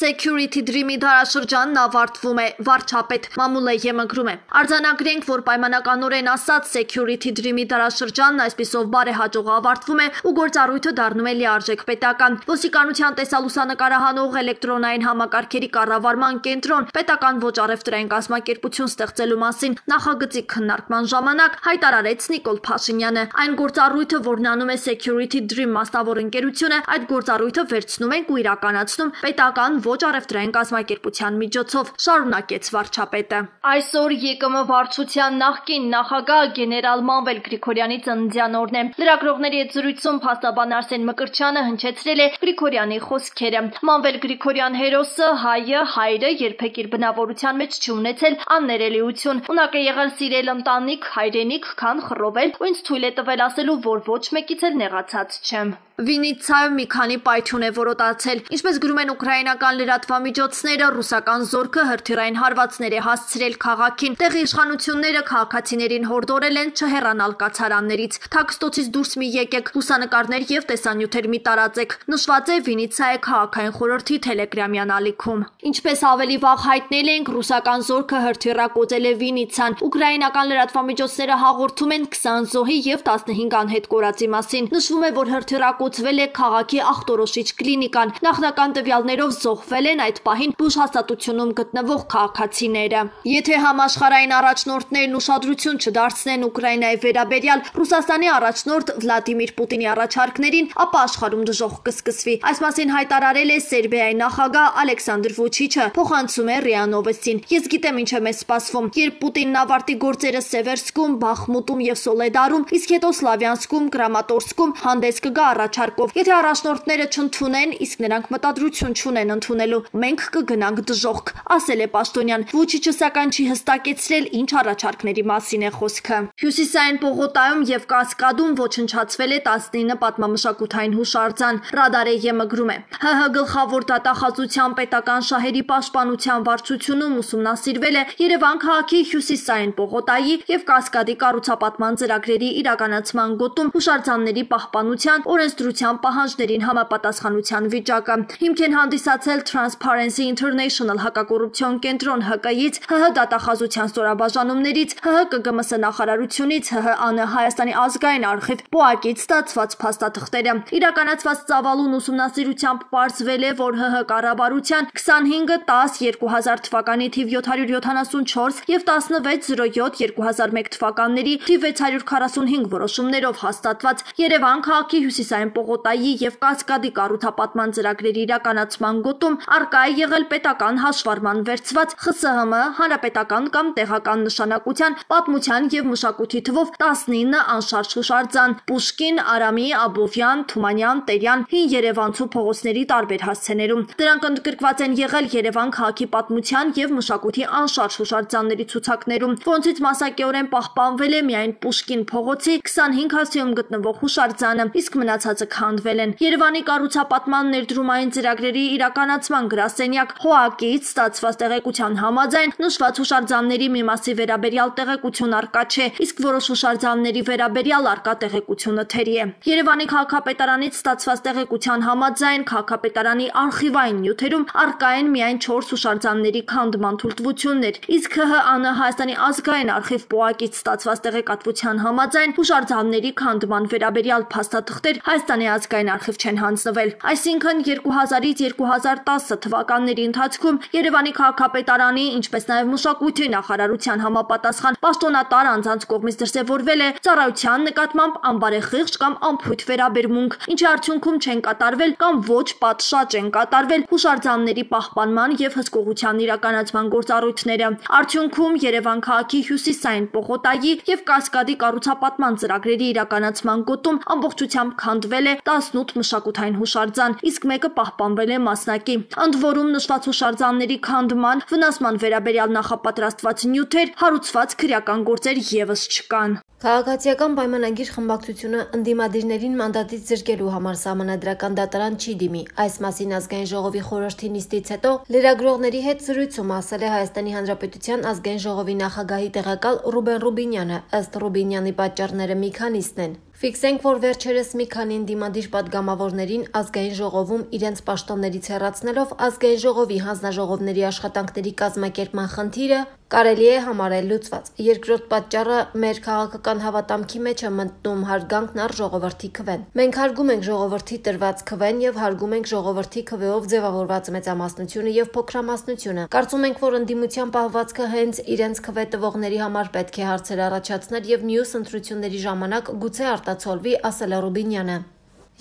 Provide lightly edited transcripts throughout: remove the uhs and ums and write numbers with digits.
Security Dream-ի դարաշրջանն ավարտվում է, վարչապետ Մամուլը ԵՄ-գրում է։ Արձանագրենք, որ պայմանականորեն ասած Security Dream-ի դարաշրջանն այսպիսով բարեհաջող ավարտվում է ու գործառույթը դառնում է լիարժեք պետական։ Ոստիկանության տեսալուսանկարահանող էլեկտրոնային համակարգերի կառավարման կենտրոն պետական ոչ առևտրային կազմակերպություն ստեղծելու մասին նախագծի քննարկման ժամանակ հայտարարեց Նիկոլ Փաշինյանը։ Այն գործառույթը, որն անում է Security Dream մասնավոր ընկերությունը, այդ գործառույթը վերցնում ենք ու իրականացնում պետական ոչ առևտրային կազմակերպության միջոցով, շարունակեց վարչապետը։ Այսօր ԵԿՄ վարչության նախկին նախագահ գեներալ Մանվել Գրիգորյանի ծննդյան օրն է։ Լրագրողների հետ զրույցում փաստաբան Արսեն Մկրտչյանը հնչեցրել է Գրիգորյանի խոսքերը։ Մանվել Գրիգորյան հերոսը հայրը երբեք իր բնավորության մեջ չունեցել աններելիություն։ Ունակ է եղել սիրել ընտանիք, հայրենիք, քան խռովել, ու ինձ թույլ է տվել ասելու, որ ոչ մեկից էլ նեղացած չեմ։ Վինիցայում մի քանի պայթյուն է որոտացել։ Ինչպես գրում են ուկրաինական լրատվամիջոցները, ռուսական զորքը հրթիռային հարվածներ է հասցրել քաղաքին։ Տեղի իշխանությունները քաղաքացիներին հորդորել են չհեռանալ կացարաններից։ Թաքստոցից դուրս մի եկեք, լուսանկարներ եւ տեսանյութեր մի տարածեք։ Նշված է Վինիցայի քաղաքային խորհրդի Telegram-յան ալիքում։ Ինչպես ավելի վաղ հայտնել ենք, ռուսական զորքը հրթիռակոծել է Վինիցան։ Ուկրաինական լրատվամիջոցները հաղորդում են 20 զոհի եւ 15 անհետ կորածի մասին։ Նշվում է, որ հրթիռակոծվել է քաղաքի ախտորոշիչ կլինիկան։ Նախնական տվյալներով զոհվել են այդ պահին բուժ հաստատությունում գտնվող քաղաքացիները։ Եթե համաշխարհային առաջնորդներն ուշադրություն չդարձնեն Ուկրաինայի վերաբերյալ Ռուսաստանի առաջնորդ Վլադիմիր Պուտինի առաջարկներին, ապա աշխարհում դժոխք կսկսվի։ Այս մասին հայտարարել է Սերբիայի նախագահ Ալեքսանդր Վուչիչը, փոխանցում է ՌԻԱ Նովոստին։ Ես գիտեմ ինչ է մեզ սպասվում։ Երբ Պուտինն ավարտի գործերը Սևերսկում, Բախմուտում եւ Սոլեդարում, իսկ հետո Սլավյանսկում, Կրամատորսկում հանդես կգա առաջարկով։ Եթե առաջնորդները չընդունեն, իսկ նրանք մտադրություն չունեն ընդունելու, մենք կգնանք դժոխք, ասել է Պաշտոնյան։ Վուչիչը սակայն չի հստակեցրել ինչ առաջարկների մասին է խոսքը։ Հյուսիսային Պողոտայում եւ Կասկադում ոչնչացվել է 19 պատմամշակութային հուշարձան, Ռադար է ԵՄ-գրում է։ ՀՀ գլխավոր դատախազության պետական շահերի պաշտպանության վարչությունում ուսումնասիրվել է Երևան քաղաքի Հյուսիսային Պողոտայի եւ Կասկադի կառուցապատման ծրագրերի իրականացման գոտում հուշարձանների պահպանության օրենսդրության պահանջներին համապատասխանության վիճակը։ Հիմք են հանդիսացել Transparency International հակակոռուպցիոն կենտրոն ՀԿ-ից, ՀՀ դատախազության ստորաբաժանումներից, ՀՀ ԿԳՄՍ նախարարությունից, ՀՀ Հայաստանի ազգային արխիվ ՊՕԱԿ-ից ստացված փաստաթղթերը։ Իրականացված ծավալուն ուսումնասիրությամբ պարզվել է, որ ՀՀ կառավարության 25-10-2000 թվականի թիվ 774 եւ 16-07-2001 թվականների թիվ 645 որոշումներով հաստատված Երևան քաղաքի Հյուսիսային Պողոտայի եւ Կասկադի կառուցապատման ծրագրերի իրականացման գոտում արկա է եղել պետական հաշվառման վերցված ԽՍՀՄ հանրապետական կամ տեղական նշանակության պատմության եւ մշակույթի թվով 19 անշարժ հուշարձան՝ Պուշկին, Արամի, Աբովյան, Թումանյան, Տերյան, Հին Երևանցու փողոցների տարբեր հասցեներում։ Դրանք ընդգրկված են եղել Երևան քաղաքի պատմության եւ մշակույթի անշարժ հուշարձանների ցուցակներում, որոնցից մասնակիորեն պահպանվել է միայն Պուշկին փողոցի 25 հասցեում գտնվող հուշարձանը, իսկ մնացածը քանդվել են։ Երևանի կառուցապատման ներդրումային ծրագրերի իրականացման գրասենյակ ՀՕԱԿ-ից ստացված տեղեկության համաձայն նշված հուշարձանների մի մասի վերաբերյալ տեղեկություն արկա չէ, իսկ որոշ հուշարձանների վերաբերյալ արկա տեղեկությունը թերի է։ Երևանի քաղաքապետարանից ստացված տեղեկության համաձայն քաղաքապետարանի արխիվային նյութերում արկա են միայն 4 հուշարձանների քանդման թույլտվություններ, իսկ ՀՀԱՆ Հայաստանի ազգային արխիվ ՊՕԱԿ-ից ստացված տեղեկատվության համաձայն հուշարձանների քանդման վերաբերյալ փաստաթղթեր Հայաստանի ազգային արխիվ չեն հանձնվել։ Այսինքն 2000-ից 2010 թվականների ընթացքում Երևանի քաղաքապետարանի, ինչպես նաև մշակույթի նախարարության համապատասխան պաշտոնատար անձանց կողմից դրսևորվել է ծառայության նկատմամբ անբարեխիղճ կամ անփույթ վերաբերմունք, ինչի արդյունքում չեն կատարվել կամ ոչ պատշաճ են կատարվել հուշարձանների պահպանման եւ հսկողության իրականացման գործառույթները։ Արդյունքում Երևան քաղաքի Հյուսիսային Պողոտայի եւ Կասկադի կառուցապատման ծրագրերի իրականացման գոտում ամբողջությամբ քանդվել է 18 մշակութային հուշարձան, իսկ մեկը պահպանվել է մասնակի։ Ընդ որում նշված հուշարձանների քանդման, վնասման վերաբերյալ նախապատրաստված նյութեր, հարուցված քրեական գործեր եւս չկան։ Քաղաքացիական պայմանագիր խմբակցությունը ընդդիմադիրներին մանդատից զրկելու համար սահմանադրական դատարան չի դիմի։ Այս մասին ազգային ժողովի խորհրդի նիստից հետո լրագրողների հետ զրույցում ասել է Հայաստանի Հանրապետության ազգային ժողովի նախագահի տեղակալ Ռուբեն Ռուբինյանը։ Ըստ Ռուբինյանի պատճառները մի քանիսն են։ Ֆիքսենք, որ վերջերս մի քանի ընդդիմադիր պատգամավորներին ազգային ժողովում իրենց պաշտոններից հեռացնելով ազգային ժողովի հանձնաժողովների աշխատանքների կազմակերպման խնդիրը կարելի է համարել լուծված։ Երկրորդ պատճառը մեր քաղաքական հավատամքի մեջ է մտնում հարգանքն առ ժողովրդի քվեն։ Մենք հարգում ենք ժողովրդի տրված քվեն եւ հարգում ենք ժողովրդի քվեով ձևավորված մեծամասնությունը եւ փոքրամասնությունը։ Կարծում ենք, որ ընդդիմության պահվածքը հենց իրենց քվե տվողների համար պետք է հարցեր առաջացնել եւ մյուս ընտրությունների ժամանակ գուցե արտացոլվի, ասել է Ռուբինյանը։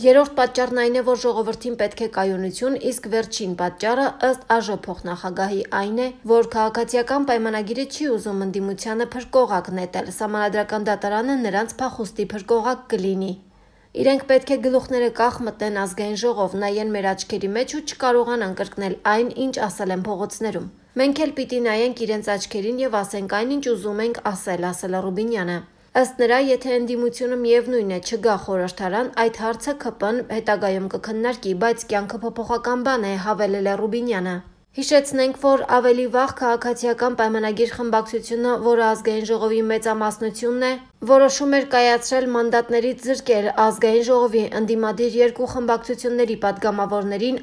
Երրորդ պատճառն այն է, որ ժողովրդին պետք է կայունություն, իսկ վերջին պատճառը ըստ ԱԺ փոխնախագահի այն է, որ քաղաքացիական պայմանագիրը չի ուզում ընդդիմությանը փրկողակ նետել, սահմանադրական դատարանը նրանց փախուստի փրկողակ կլինի։ Իրենք պետք է գլուխները կախ մտնեն ազգային ժողով, նայեն մեր աչքերի մեջ ու չկարողանան կրկնել այն, ինչ ասել են փողոցներում։ Մենք էլ պիտի նայենք իրենց աչքերին եւ ասենք այն, ինչ ուզում ենք ասել է Ռուբինյանը։ Ըստ նրա, եթե ընդդիմությունը միևնույն է չգա խորհրդարան, այդ հարցը ԿՊ-ն հետագայում կքննարկի, բայց կյանքը փոփոխական բան է, հավելել է Ռուբինյանը։ Հիշեցնենք, որ ավելի վաղ քաղաքացիական պայմանագիր խմբակցությունը, որը ազգային ժողովի մեծամասնությունն է, որոշում էր կայացրել մանդատներից զրկել ազգային ժողովի ընդդիմադիր երկու խմբակցությունների պատգամավորներին,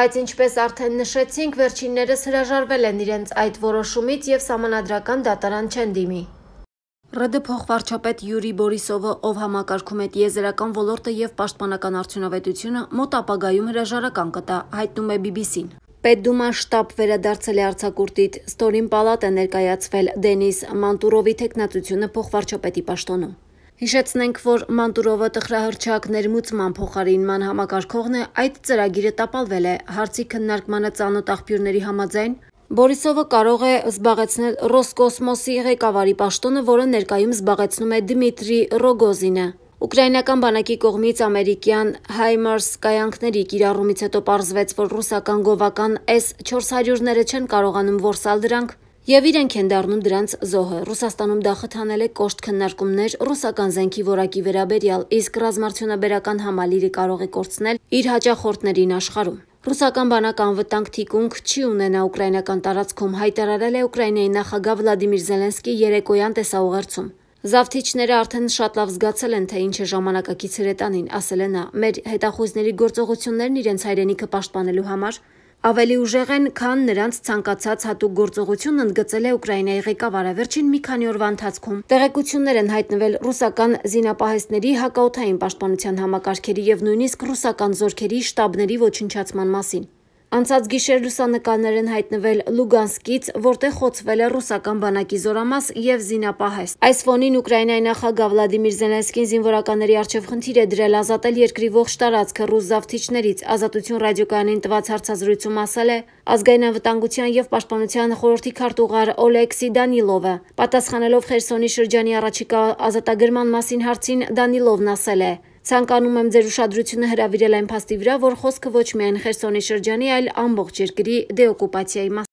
բայց ինչպես արդեն նշեցինք, վերջիններս հրաժարվել են իրենց այդ որոշումից եւ սահմանադրական դատարան չեն դիմի։ ՌԴ փոխվարչապետ Յուրի Բորիսովը, ով համակարգում է տիեզերական ոլորտը եւ պաշտպանական արդյունավետությունը, մոտ ապագայում հրաժարական կտա, հայտնում է BBC-ն։ Պետդումա շտաբ վերադարձել է արձակուրդից, ստորին պալատ է ներկայացվել Դենիս Մանտուրովի թեկնածությունը փոխվարչապետի պաշտոնում։ Հիշեցնենք, որ Մանտուրովը տխրահռչակ ներմուծման փոխարինման համակարգողն է, այդ ծրագիրը տապալվել է, հարցի քննարկմանը ծանոթ աղբյուրների համաձայն Բորիսովը կարող է զբաղեցնել Ռոսկոսմոսի ղեկավարի պաշտոնը, որը ներկայում զբաղեցնում է Դմիտրի Ռոգոզինը։ Ուկրաինական բանակի կողմից ամերիկյան Հայմարս կայանքների կիրառումից հետո պարզվեց, որ ռուսական գովական S-400-ները չեն կարողանում որսալ դրանք եւ իրենք են դառնում դրանց զոհը։ Ռուսաստանում դա խթանել է կոշտ քննարկումներ ռուսական զենքի որակի վերաբերյալ, իսկ ռազմարդյունաբերական համալիրը կարող է կորցնել իր հաճախորդներին աշխարհում։ Ռուսական բանակը անվտանգ թիկունք չի ունենա ուկրաինական տարածքում, հայտարարել է Ուկրաինայի նախագահ Վլադիմիր Զելենսկի երեկոյան տեսաուղերձում։ Զավթիչները արդեն շատ լավ զգացել են, թե ինչ է ժամանակակից հրետանին, ասել է նա։ Մեր հետախույզների գործողություններն իրենց հայրենիքը պաշտպանելու համար ավելի ուժեղ են, քան նրանց ցանկացած հատուկ գործողություն, ընդգծել է Ուկրաինայի ղեկավարը։ Վերջին մի քանի օրվա ընթացքում տեղեկություններ են հայտնվել ռուսական զինապահեստների, հակաօդային պաշտպանության համակարգերի եւ նույնիսկ ռուսական զորքերի շտաբների ոչնչացման մասին։ Անցած գիշեր լուսանկարներ են հայտնվել Լուգանսկից, որտեղ խոցվել է ռուսական բանակի զորամաս եւ զինապահեստ։ Այս ֆոնին Ուկրաինայի նախագահ Վլադիմիր Զելենսկին զինվորականների առջև խնդիր է դրել ազատել երկրի ողջ տարածքը ռուս զավթիչներից։ Ազատություն ռադիոկայանին տված հարցազրույցում ասել է ազգային անվտանգության եւ պաշտպանության խորհրդի քարտուղար Օլեքսի Դանիլովը։ Պատասխանելով Խերսոնի շրջանի առաջիկա ազատագրման մասին հարցին Դանիլովն ասել է. Ցանկանում եմ ձեր ուշադրությունը հրավիրել այն փաստի վրա, որ խոսքը ոչ միայն Խերսոնի շրջանի, այլ ամբողջ երկրի դեօկուպացիայի մասին։